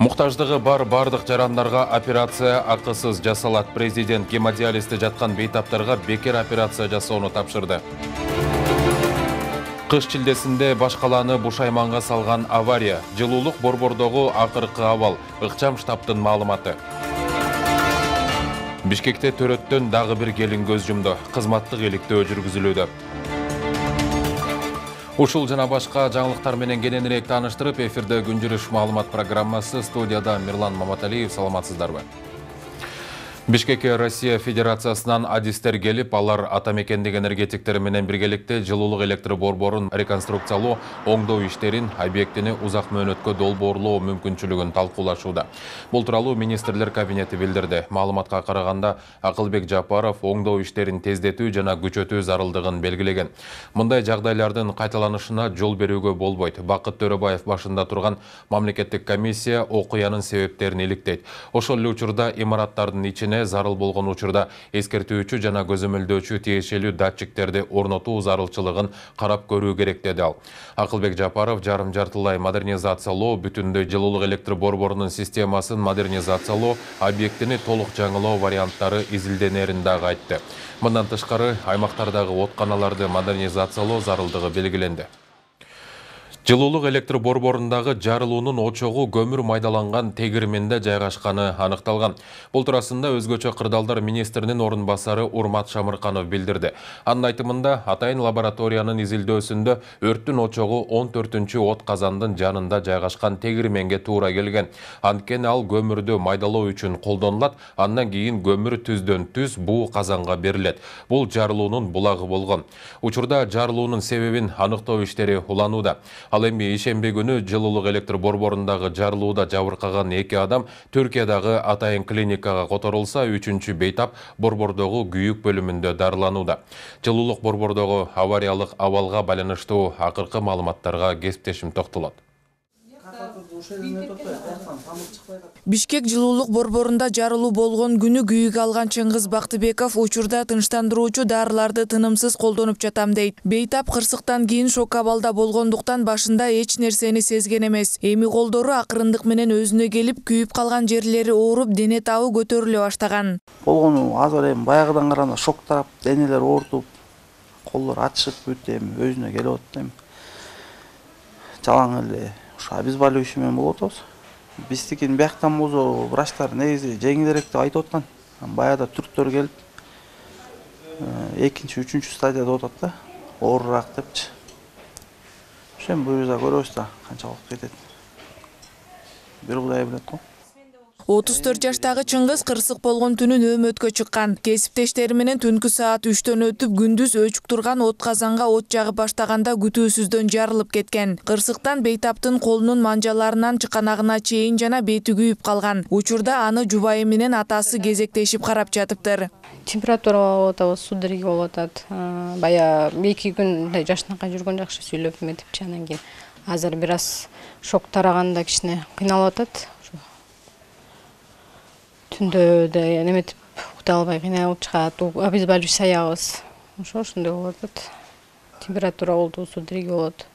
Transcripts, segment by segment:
Муктаждыгы бар бардык жарандарга операция акысыз жасалат. Президент гемодиализде жаткан бейтаптарга бекер операция жасоону тапшырды. Кыш чилдесинде баш калааны бушайманга салган авария. Жылуулук борбордогу акыркы абал. Ыкчам штабтын маалыматы. Бишкекте төрөттөн дагы бир келин көз жумду. Кызматтык иликтөө жүргүзүлүүдө. Ушул жана башка жаңылыктар менен кененирээк тааныштырып, эфирде күн жүрүш маалымат программасы. Студияда Мирлан Маматалиев. Саламатсыздарбы? Бишкекке Россия Федерациясынан адистер келип, алар ата мекендеги энергетиктер менен биргеликте жылуулук электр борборун реконструкциялоо, оңдоо иштерин, объектини узак мөөнөткө долбоорлоо мүмкүнчүлүгүн талкуулашууда. Бул тууралуу министрлер кабинети билдирди. Маалыматка караганда, Акылбек Жапаров оңдоо иштерин тездетүү жана күчөтүү зарылдыгын белгилеген. Мындай жагдайлардын кайталанышына жол берүүгө болбойт. Бакыт Төрөбаев башында турган мамлекеттик комиссия окуянын себептерин иликтейт. Ошол эле учурда имараттардын ичине зарыл болгон учурда эскертүүчү жана көзөмөлдөөчү тиешелүү датчиктерди орнотуу зарылчылыгын карап көрүү керек деди ал. Акылбек Жапаров жарым-жартылай модернизациялоо, бүтүндөй жылуулук электр борборунун системасын модернизациялоо, объектини толук жаңылоо варианттары изилденерин дагы айтты. Мындан тышкары, аймактардагы отканаларды модернизациялоо зарылдыгы белгиленди. Жылуулук электр борборундагы жарылуунун очогу көмүр майдаланган тегирменде жайгашканы анықталган. Бул туурасында өзгөчө кырдаалдар министринин орун басары Урмат Шамырканов билдирди. Анын айтымында, атайын лабораториянын изилдөөсүндө өрттүн очогу 14-чү от казандын жанында жайгашкан тегирменге туура келген. Анткени ал көмүрдү майдалоо үчүн колдонулат, андан кийин көмүр түздөн түз буу казанга берилет. Бул жарылуунун булагы болгон. Учурда жарылуунун себебин аныктоо иштери уланууда. Ал эми ишемби күнү жылуулук электр борборундагы жарылууда жабыркаган 2 адам Түркиядагы атайын клиникага которулса, 3-чү бейтап борбордогу күйүк бөлүмүндө дарыланууда. Жылуулук борбордогу авариялык абалга байланыштуу акыркы маалыматтарга кесиптешим токтолот. Бишкек жылуулук борборунда жарылуу болгон күнү күйүк алган Чыңгыз Бактыбеков учурда тынчтандыруучу дарыларды тынымсыз колдонуп жатам дейт. Бейтап кырсыктан кийин шок абалда болгондуктан башында эч нерсени сезген эмес. Эми колдору акырындык менен өзүнө келип, күйүп калган жерлери ооруп, дене табы көтөрүлө баштаган. Болгону азыр эми баягыдан караганда шок тарап, денелер оорутуп, колдор ачышып бүт эми өзүнө келип атат эми. Жалаң эле обезболивающий менен болуп атабыз. Биздикин бияктан болсо врачтар негизи жеңилирээк деп айтып аткан. Баягыда түрктөр келип 2-чи, 3-чү стадияда атат да, оорураак депчи. Ошо эми буюрса көрөбүз да канча убакыт кетет. Бир Кудай билет го. 34 жаштагы Чыңгыз кырсык болгон түнү нөөмөткө чыккан. Кесиптештери менен түнкү саат 3төн өтүп, күндүз өчүк турган от казанга от жагып баштаганда күтүүсүздөн жарылып кеткен. Кырсыктан бейтаптын колунун манжаларынан чыканагына чейин жана бети күйүп калган. Учурда аны жубайы менен атасы кезектешип карап жатыптыр. Температура болуп атабыз, судороги болуп атат. Бая 2 күн жашынакай жүргөн жакшы сүйлөп эметипчи, анан кийин азыр бир аз шок тараганда кичине кыйналып атат. Түндө да эметип уктап албай кыйналып чыгат, обезболивающий саябыз. Ошондой болуп атат. Температура болду, судороги болот.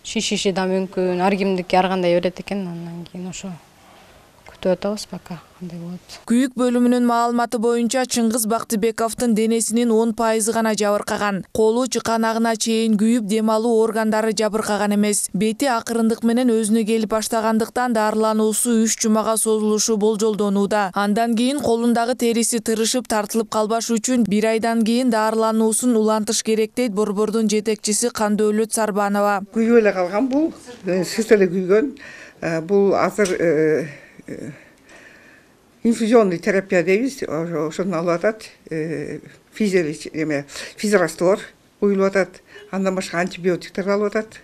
Шишиши да мүмкүн, ар кимдики ар кандай берет экен, андан кийин ошо күтүп атабыз пока кандай болот. Күйүк бөлүмүнүн маалыматы боюнча Чыңгыз Бактыбековдун денесинин 10% гана жабыркаган. Колу чыканагына чейин күйүп, дем алуу органдары жабыркаган эмес. Бети акырындык менен өзүнө келип баштагандыктан дарылануусу 3 жумага созулушу болжолдонууда. Андан кийин колундагы териси тырышып тартылып калбаш үчүн 1 айдан кийин дарылануусун улантыш керек дейт борбордун жетекчиси Кандөлөт Сарбанова. Күйүп эле калган бул, сырт эле күйгөн. Бул азыр инфузионный терапия дейбиз, ошону алып атат. Физраствор куюлуп атат. Андан башка антибиотиктер алып атат.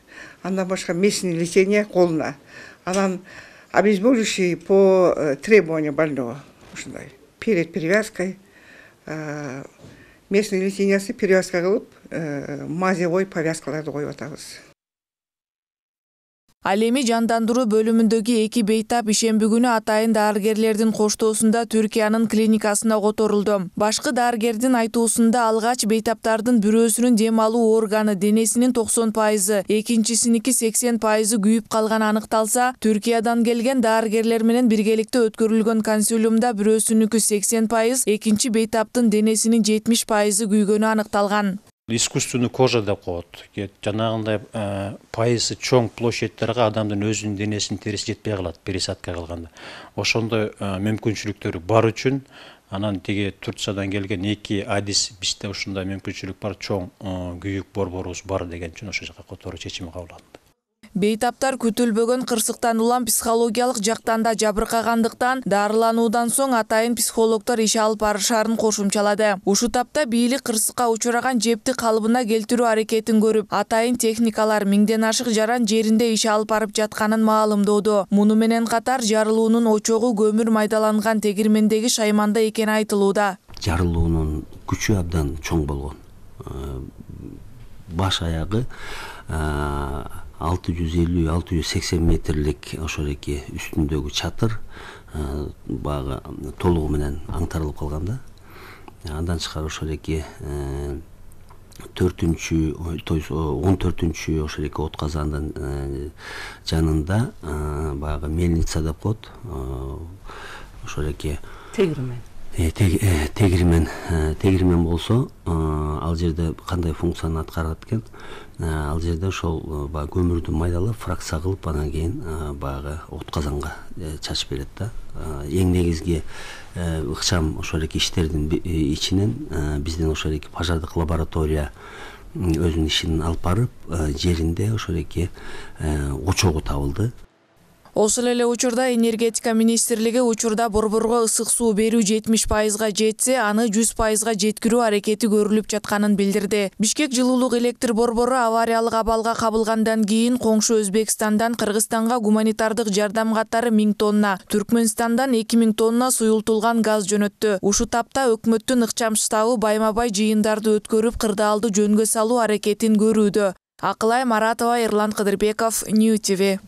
Андан башка местное лечение колуна. Анан обезболивающий по требованию больного. Ушундай. Перед перевязкой местное лечениясы перевязка кылып, мазевой повязкаларды коюп атабыз. Ал эми жандандыруу бөлүмүндөгү 2 бейтап ишемби күнү атайын дарыгерлердин коштоосунда Түркиянын клиникасына которулду. Башкы дарыгердин айтуусунда алгач бейтаптардын бирөөсүнүн дем алуу органы денесинин 90%, экинчисиники 80% күйүп калганы аныкталса, Түркиядан келген дарыгерлер менен биргеликте өткөрүлгөн консилиумда бирөөсүнүкү 80%, экинчи бейтаптын денесинин 70% күйгөнү аныкталган. Искусственный кожа деп коет. Жанагындай пайызы чоң площадьтерге адамдын өзүнүн денесинин териси жетпей калат пересадка кылганда. Ошондой мүмкүнчүлүктөр бар үчүн анан тиги Турциядан келген 2 адис бизде ушундай мүмкүнчүлүк бар, чоң күйүк борборубуз бар деген үчүн ошол жака которуу чечими кабыл алынды. Бейтаптар күтүлбөгөн кырсыктан улам психологиялык жактан да жабыркагандыктан дарылануудан соң атайын психологдор иш алып барышаарын кошумчалады. Ушул тапта бийлик кырсыкка учураган жепти калыбына келтирүү аракетин көрүп, атайын техникалар миңден ашык жаран жеринде иш алып барып жатканын маалымдоодо. Муну менен катар жарылуунун очогу көмүр майдаланган тегирмендеги шайманда экени айтылууда. Жарылуунун күчү абдан чоң болгон. Баш аягы 650-680 метрлик ошол эки үстүндөгү чатыр багы толугу менен аңтарылып калганда. Андан тышкары ошол эки 14-чү ошол эки от казандын жанында багы мельница деп коет. Ошол эки тегирмен болсо, ал жерде кандай функцияны аткарат экен? Ал жерде ошол көмүрдү майдалап, фракция кылып, анан кийин багы от казанга чачып берет да. Эң негизги ыкчам ошол эки иштердин ичинен биздин ошол эки пожардык лаборатория өзүнүн ишин алып барып, жеринде ошол эки очогу табылды. Ошол эле учурда энергетика министрлиги учурда борборго ысык суу берүү 70%га жетсе, аны 100%га жеткирүү аракети көрүлүп жатканын билдирди. Бишкек жылуулук электр борбору авариялык абалга кабылгандан кийин коңшу Өзбекстандан Кыргызстанга гуманитардык жардам катары 1000 тонна, Түркмөнстандан 2000 тонна суюлтулган газ жөнөттү. Ушул тапта өкмөттүн ыкчам штабы байма-бай жыйындарды өткөрүп, кырдаалды жөнгө салуу аракетин көрүүдө. Акылай Маратова, Эрлан Кыдырбеков, New TV.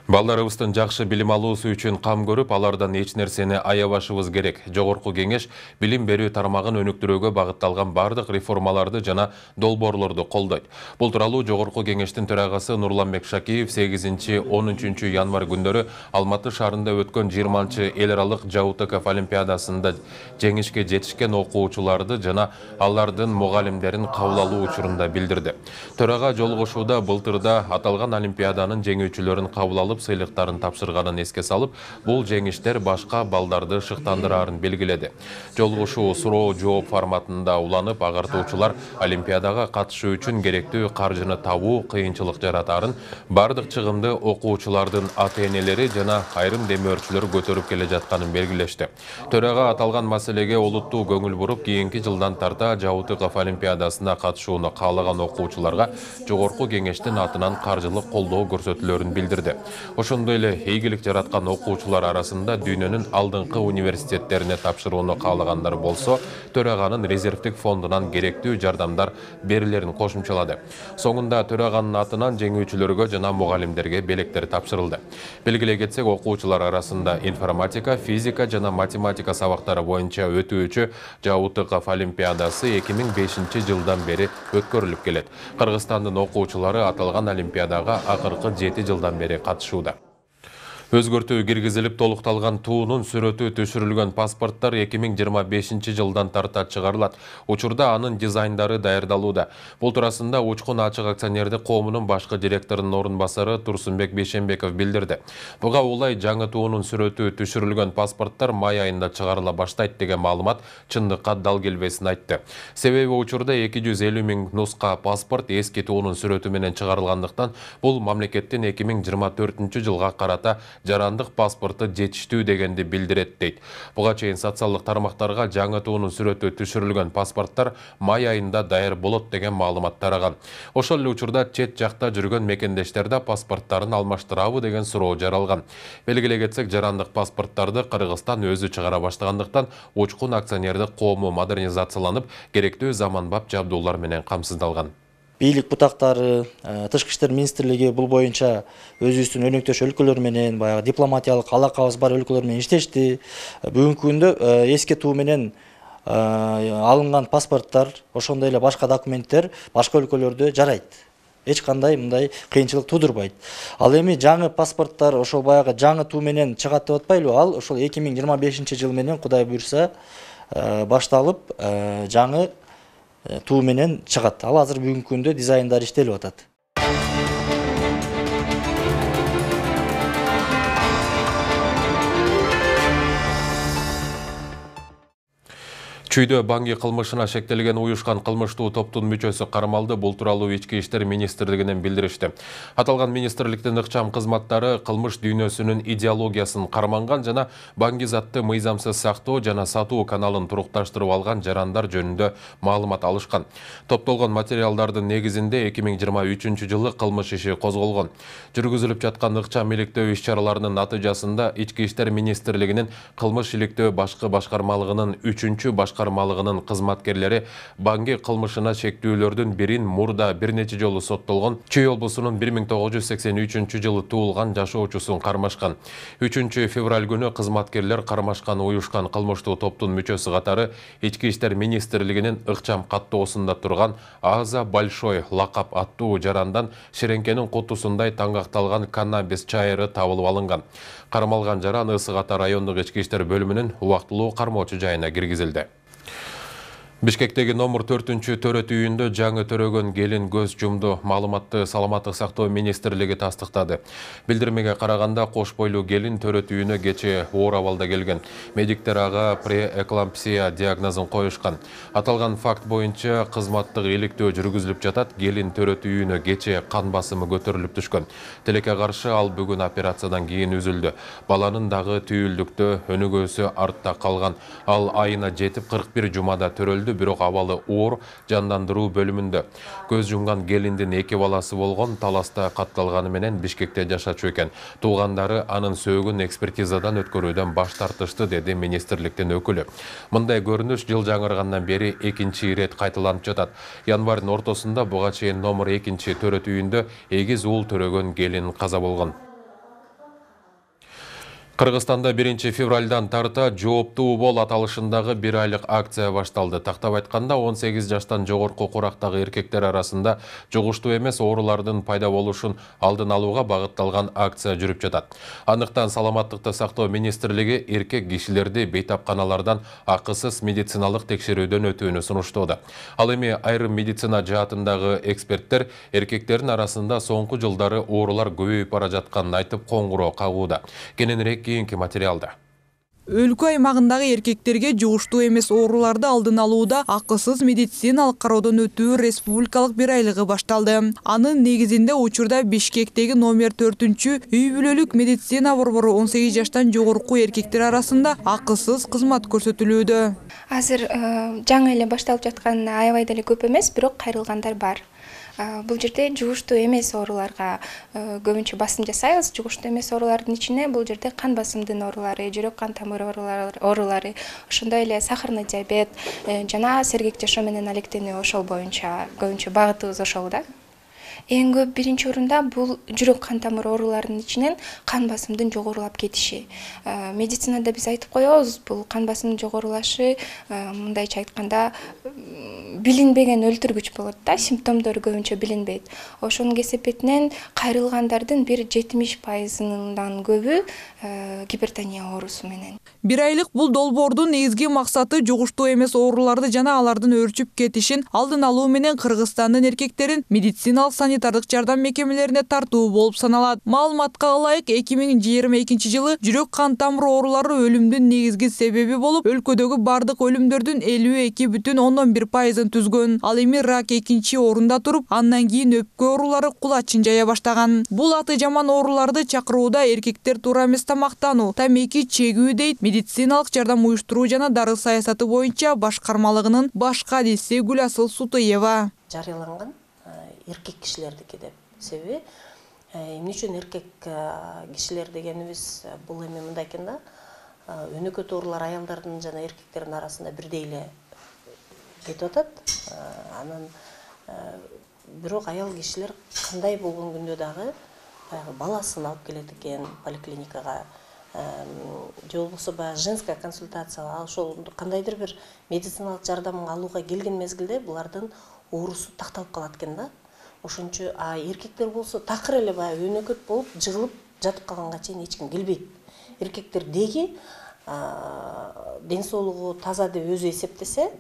Балдарыбыздын жакшы билим алуусу үчүн кам көрүп, алардан эч нерсени аябашыбыз керек. Жогорку кеңеш билим берүү тармагын өнүктүрүүгө багытталган бардык реформаларды жана долбоорлорду колдойт. Бул тууралуу Жогорку кеңештин төрагасы Нурланбек Шакиев 8-13 январь күндөрү Алматы шаарында өткөн 20-чы эл аралык ЖАУТК олимпиадасында жеңишке жетишкен окуучуларды жана алардын мугалимдерин кабыл алуу учурунда билдирди. Төрага жолугушууда былтырда аталган олимпиаданын жеңүүчүлөрүн кабыл алып сыйлыктарын тапшырганын эске салып, бул жеңиштер башка балдарды шыктандырарын белгиледи. Жолугушуу суроо жооп форматында уланып, агартуучулар олимпиадага катышуу үчүн керектүү каржыны табуу кыйынчылык жаратарын бардык чыгымды окуучулардын ата-энелери жана айрым демөөрчүлөр көтөрүп келе жатканын белгилешти. Төрага аталган маселеге олуттуу көңүл буруп, кийинки жылдан тарта ЖАУТК олимпиадасына катышууну каалаган окуучуларга Жогорку кеңештин атынан каржылык колдоо көрсөтүлөрүн билдирди. Ошондой эле ийгилик жараткан окуучулар арасында дүйнөнүн алдыңкы университеттерине тапшырууну каалагандар болсо, төраганын резервдик фондунан керектүү жардамдар берилерин кошумчалады. Соңунда төраганын атынан жеңүүчүлөргө жана мугалимдерге белектер тапшырылды. Белгилей кетсек, окуучулар арасында информатика, физика жана математика сабактары боюнча өтүүчү ЖАУТК олимпиадасы 2005 жылдан бери өткөрүлүп келет. Кыргызстандын окуучулары аталган олимпиадага акыркы 7 жылдан бери катышууда. Өзгөртүү киргизилип толукталган туунун сүрөтү түшүрүлгөн паспорттор 2025 жылдан тарта чыгарылат. Учурда анын дизайндары даярдалууда. Бул туурасында Учкун Ачык акционердик коомунун башкы директорунун орун басары Турсунбек Бейшенбеков билдирди. Буга улай жаңы туунун сүрөтү түшүрүлгөн паспорттор май айында чыгарыла баштайт деген маалымат чындыкка дал келбесин айтты. Себеби учурда 250 000 нуска паспорт эски туунун сүрөтү менен чыгарылгандыктан, бул мамлекеттин 2024 жылга карата жарандык паспорту жетиштүү дегенди билдирет дейт. Буга чейин социалдык тармактарга жаңы туунун сүрөтү түшүрүлгөн паспорттор май айында даяр болот деген маалымат тараган. Ошол эле учурда чет жакта жүргөн мекендештерде паспорттарын алмаштырабы деген суроо жаралган. Белгилей кетсек, жарандык паспорттарды Кыргызстан өзү чыгара баштагандыктан, Учкун акционердик коому модернизацияланып, керектүү заманбап жабдуулар менен камсыздалган. бийлик бутактары, Тышкы иштер министрлиги бул боюнча өзүбүздүн өнөктөш өлкөлөр менен, баягы дипломатиялык алакабыз бар өлкөлөр менен иштешти. Бүгүнкү күндө эскертүү менен алынган паспорттар, ошондой эле башка документтер башка өлкөлөрдө жарайт. Эч кандай мындай кыйынчылык тудурбайт. Ал эми жаңы паспорттар ошол баягы жаңы туу менен чыгат деп атпайлыбы? Ал ошол 2025 жыл менен Кудай буйрса башталып жаңы туу менен чыгат. Ал азыр бүгүнкү күндө дизайндары иштелип атат. Чүйдө банги кылмышына шектелген уюшкан кылмыштуу топтун мүчөсү кармалды. Бул тууралуу Ички иштер министрлигинен билдиришти. Аталган министрликтин ыкчам кызматтары кылмыш дүйнөсүнүн идеологиясын карманган жана банги затты мыйзамсыз сактоо жана сатуу каналын турукташтырып алган жарандар жөнүндө маалымат алышкан. Топтолгон материалдардын негизинде 2023 жылы кылмыш иши козголгон. Жүргүзүлүп жаткан ыкчам иликтөө иш-чараларынын натыйжасында Ички иштер министрлигинин кылмыш иликтөө башкы башкармалыгынын 3-чү башкармалыгынын кызматкерлери банги кылмышына шектүүлөрдүн бирин мурда бир нече жолу соттолгон Чүй облусунун 1983 жылы туулган жашоочусун кармашкан. 3 февраль күнү кызматкерлер кармашкан уюшкан кылмыштуу топтун мүчөсү катары Ички иштер министрлигинин ыкчам каттоосунда турган Аза Большой лакап аттуу жарандан ширеңкенин кутусундай таңгакталган каннабис чайыры табылып алынган. Кармалган жаран Ысык Ата райондук ички иштер бөлүмүнүн убактылуу кармоочу жайына киргизилди. Бишкектеги номер 4-чү төрөт үйүндө жаңы төрөгөн келин көз жумду. Маалыматты Саламаттык сактоо министрлиги тастыктады. Билдирмеге караганда кош бойлуу келин төрөт үйүнө кечээ оор абалда келген. Медиктер ага преэклампсия диагнозун коюшкан. Аталган факт боюнча кызматтык иликтөө жүргүзүлүп жатат. Келин төрөт үйүнө кечээ кан басымы көтөрүлүп түшкөн. Тилекке каршы ал бүгүн операциядан кийин үзүлдү. Баланын дагы түйүлдүктө өнүгүүсү артта калган. Ал айына жетип 41 жумада төрөлдү. Бирок абалы оор жандандыруу бөлүмүндө. Көз жумган келиндин 2 баласы болгон, таласта катталганы менен Бишкекте жашачу экен. Туугандары анын сөөгүн экспертизадан өткөрүүдөн баш тартышты, деди министрликтин өкүлү. Мындай көрүнүш жыл жаңыргандан бери 2-чи ирет кайталанып жатат. Январдын ортосунда буга чейин номер 2-чи төрөт үйүндө эгиз уул төрөгөн келин каза болгон. Кыргызстанда 1 февралдан тарта жооптуу бол аталышындагы 1 айлык акция башталды. Тактап айтканда 18 жаштан жогорку курактагы эркектер арасында жугуштуу эмес оорулардын пайда болушун алдын алууга багытталган акция жүрүп жатат. Андыктан Саламаттыкты сактоо министрлиги эркек кишилерди бейтапканалардан акысыз медициналык текшерүүдөн өтүүнү сунуштоодо. Ал эми айрым медицина жаатындагы эксперттер эркектердин арасында соңку жылдары оорулар көбөйүп бара жатканын айтып коңгуроо кагууда. Кененирээк кийинки материалда. Өлкө аймагындагы эркектерге жугуштуу эмес ооруларды алдын алууда акысыз медициналык кароодон өтүү республикалык 1 айлыгы башталды. Анын негизинде учурда Бишкектеги номер 4-чү үй бүлөлүк медицина борбору 18 жаштан жогорку эркектер арасында акысыз кызмат көрсөтүлүүдө. Азыр жаңы эле башталып жатканына аябай деле көп эмес, бирок кайрылгандар бар. Бул жерде жугуштуу эмес ооруларга көбүнчө басым жасайбыз. Жугуштуу эмес оорулардын ичине бул жерде кан басымдын оорулары, жүрөк кан тамыры оорулары, ошондой эле сахарный диабет жана сергек жашоо менен алектенүү ошол боюнча көбүнчө багытыбыз ошол да. Эң көп биринчи орунда бул жүрөк кан тамыр ооруларынын ичинен кан басымдын жогорулап кетиши. Медицинада биз айтып коебуз, бул кан басымдын жогорулашы мындайча айтканда билинбеген өлтүргүч болот да, симптомдору көбүнчө билинбейт. Ошонун кесепетинен кайрылгандардын 70%-дан көбү гипертония оорусу менен. 1 айлык бул долбоордун негизги максаты жугуштуу эмес ооруларды жана алардын өрчүп кетишин алдын алуу менен Кыргызстандын эркектерин медициналык санитардык жардам мекемелерине тартуу болуп саналат. Маалыматка ылайык 2022 жылы жүрөк кан тамыр оорулары өлүмдүн негизги себеби болуп, өлкөдөгү бардык өлүмдөрдүн 52,11%-ын түзгөн. Ал эми рак 2-чи орунда туруп, андан кийин өпкө оорулары кулачын жая баштаган. Бул аты жаман ооруларды чакырууда эркектер туура эмес тамактануу, тамеки чегүү дейт медициналык жардам уюштуруу жана дары саясаты боюнча башкармалыгынын баш кадиси Гүласыл Сутуева. Жарыяланган эркек кишилердики деп. Себеби эмне үчүн эркек кишилер дегенибиз бул эми мындай экен да, өнөкөт оорулар аялдардын жана эркектердин арасында бирдей эле кетип атат. Анан бирок аял кишилер кандай болгон күндө дагы баягы баласын алып келет экен поликлиникага, же болбосо баягы женская консультация, ошол кандайдыр бир медициналык жардам алууга келген мезгилде булардын оорусу такталып калат экен да. Ошончо эркектер болсо такыр эле баягы өнөкөт болуп жыгылып жатып калганга чейин эч ким келбейт. Эркектер деги ден соолугу таза деп өзү эсептесе,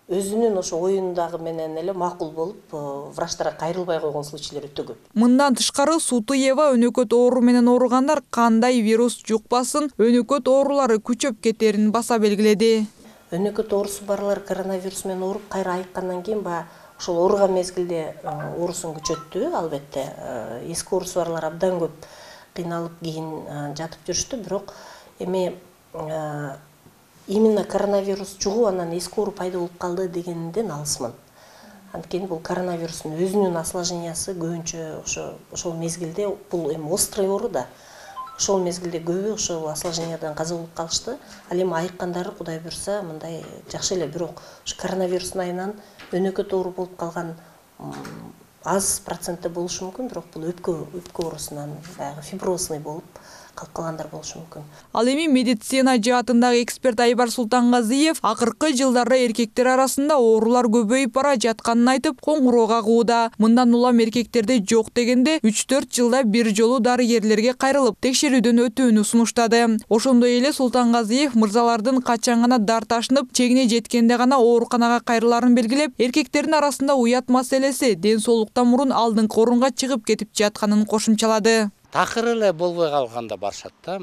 өзүнүн ошо оюндагы менен эле макул болуп, врачтарга кайрылбай койгон случайлар өтө көп. Мындан тышкары Сутуева өнөкөт оору менен ооругандар кандай вирус жукпасын, өнөкөт оорулары күчөп кетерин баса белгиледи. Өнөкөт оорусу барлар коронавирус менен ооруп кайра айыккандан кийин ошол ооруган мезгилде оорусун күчөттү, албетте. Эски оорусу барлар абдан көп кыйналып кийин жатып жүрүштү, бирок эми именно коронавирус жугуп анан эски оору пайда болуп калды дегенден алысмын. Анткени бул коронавирустун өзүнүн осложнениясы көбүнчө ошол мезгилде, бул эми острый оору да. Ошол мезгилде көбү ошол осложнениядан каза болуп калышты. Ал эми айыккандары Кудай буйрса мындай жакшы эле, бирок ошо коронавирустун айынан өнөкөт оору болуп калган аз процентте болушу мүмкүн, бирок бул өпкө оорусунан баягы фиброзный болуп калып калгандар болушу мүмкүн. Ал эми медицина жаатындагы эксперт Айбар Султангазиев акыркы жылдары эркектер арасында оорулар көбөйүп бара жатканын айтып, коңгуроо кагууда. Мындан улам эркектерде жок дегенде 3-4 жылда бир жолу дарыгерлерге кайрылып, текшерүүдөн өтүүнү сунуштады. Ошондой эле Султангазиев мырзалардын качан гана дар ташынып, чегине жеткенде гана ооруканага кайрыларын белгилеп, эркектердин арасында уят маселеси ден соолуктан мурун алдыңкы орунга чыгып кетип жатканын кошумчалады. Такыр эле болбой калганда барышат да.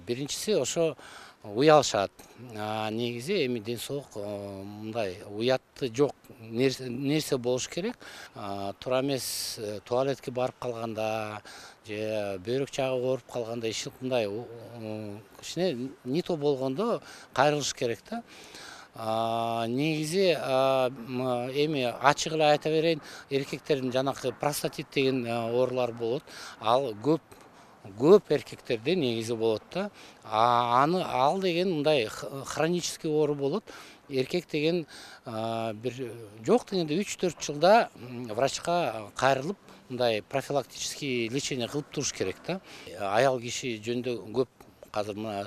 Биринчиси ошо уялышат. Негизи эми ден соолук мындай уятты жок нерсе болуш керек. Туура эмес туалетке барып калганда же бөйрөк жагы ооруп калганда, мындай кичине не то болгондо кайрылыш керек да. Негизи эми ачык эле айта берейин, эркектердин жанакы простатит деген оорулар болот. Ал көп эркектерде негизи болот да. Ал деген мындай хронический оору болот. Эркек деген бир жок дегенде 3-4 жылда врачка кайрылып, мындай профилактический лечение кылып туруш керек да. Аял киши жөнүндө көп азыр мына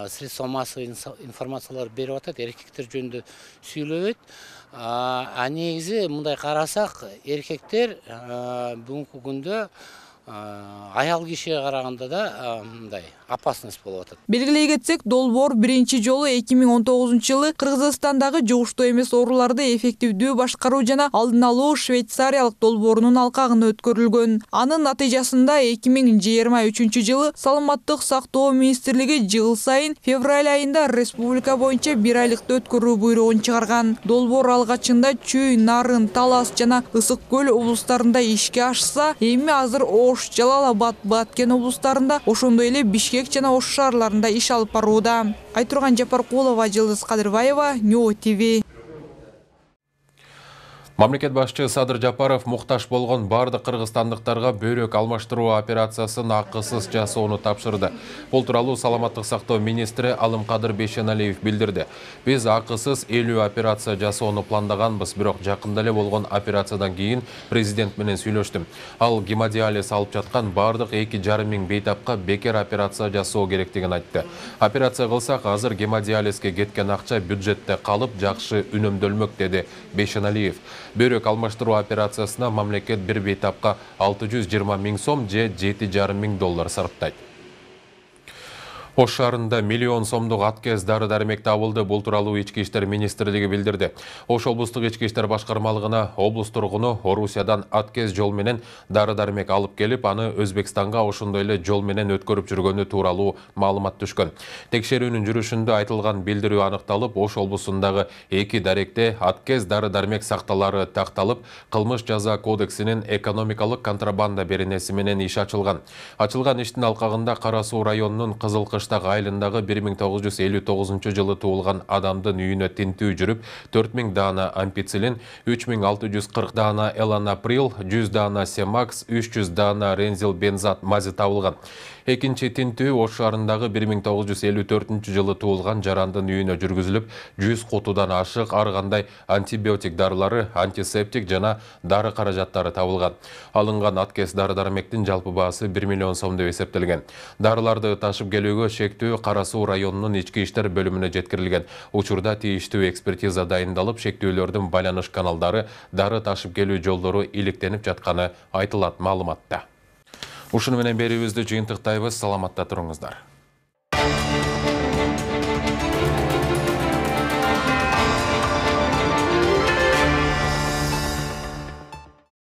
средства массовой информациялар берип атат, эркектер жөнүндө сүйлөбөйт. Негизи мындай карасак, эркектер бүгүнкү күндө аял кишиге караганда да мындай опасность болуп атат. Белгилей кетсек, долбоор биринчи жолу 2019-жылы Кыргызстандагы жугуштуу эмес ооруларды эффективдүү башкаруу жана алдын алуу Швейцариялык долбоорунун алкагында өткөрүлгөн. Анын натыйжасында 2023-жылы Саламаттык сактоо министрлиги жыл сайын февраль айында республика боюнча 1 айлыкты өткөрүү буйругун чыгарган. Долбоор алгачында Чүй, Нарын, Талас жана Ысык көл облустарында ишке ашса, эми азыр Ош, Жалал-Абад, Баткен облустарында, ошондой эле Бишкек жана Ош шаарларында иш алып барууда. Айтурган Жапаркулова, Жылдыз Кадырбаева, Ньо ТВ. Мамлекет башчы Садыр Жапаров муктаж болгон бардык кыргызстандыктарга бөйрөк алмаштыруу операциясын акысыз жасоону тапшырды. Бул тууралуу Саламаттык сактоо министри Алымкадыр Бейшеналиев билдирди. Биз акысыз 50 операция жасоону пландаганбыз, бирок жакында эле болгон операциядан кийин президент менен сүйлөштүм. Ал гемодиализ алып жаткан бардык 2,5 миң бейтапка бекер операция жасоо керектигин айтты. Операция кылсак, азыр гемодиализге кеткен акча бюджетте калып, жакшы үнөмдөлмөк, деди Бейшеналиев. Бөйрөк алмаштыруу операциясына мамлекет бир бейтапка 620 миң сом же $7,5 миң сарптайт. Ош шаарында миллион сомдук аткез дары-дармек табылды. Бул тууралуу Ички иштер министрлиги билдирди. Ош облустук ички иштер башкармалыгына облус тургуну Орусиядан аткез жол менен дары-дармек алып келип, аны Өзбекстанга ошондой эле жол менен өткөрүп жүргөнү тууралуу маалымат түшкөн. Текшерүүнүн жүрүшүндө айтылган билдирүү аныкталып, Ош облусундагы 2 даректе аткез дары-дармек сакталары такталып, кылмыш жаза кодексинин экономикалык контрабанда беренеси менен иш ачылган. Ачылган иштин алкагында Кара Суу районунун Кызылкыш жаштагы айылындагы 1959 жылы туулган адамдын үйүнө тинтүү жүрүп, 4000 даана ампицилин, 3640 даана эланаприл, 100 даана семакс, 300 даана рензил бензат мази табылган. Экинчи тинтүү Ош шаарындагы 1954 жылы туулган жарандын үйүнө жүргүзүлүп, 100 кутудан ашык ар кандай антибиотик дарылары, антисептик жана дары каражаттары табылган. Алынган аткес дары-дармектин жалпы баасы 1 миллион сом деп эсептелген. Дарыларды ташып келүүгө шектүү Кара Суу районунун ички иштер бөлүмүнө жеткирилген. Учурда тийиштүү экспертиза дайындалып, шектүүлөрдүн байланыш каналдары, дары ташып келүү жолдору иликтенип жатканы айтылат маалыматта. Ушуну менен берүүбүздү жыйынтыктайбыз. Саламатта туруңуздар.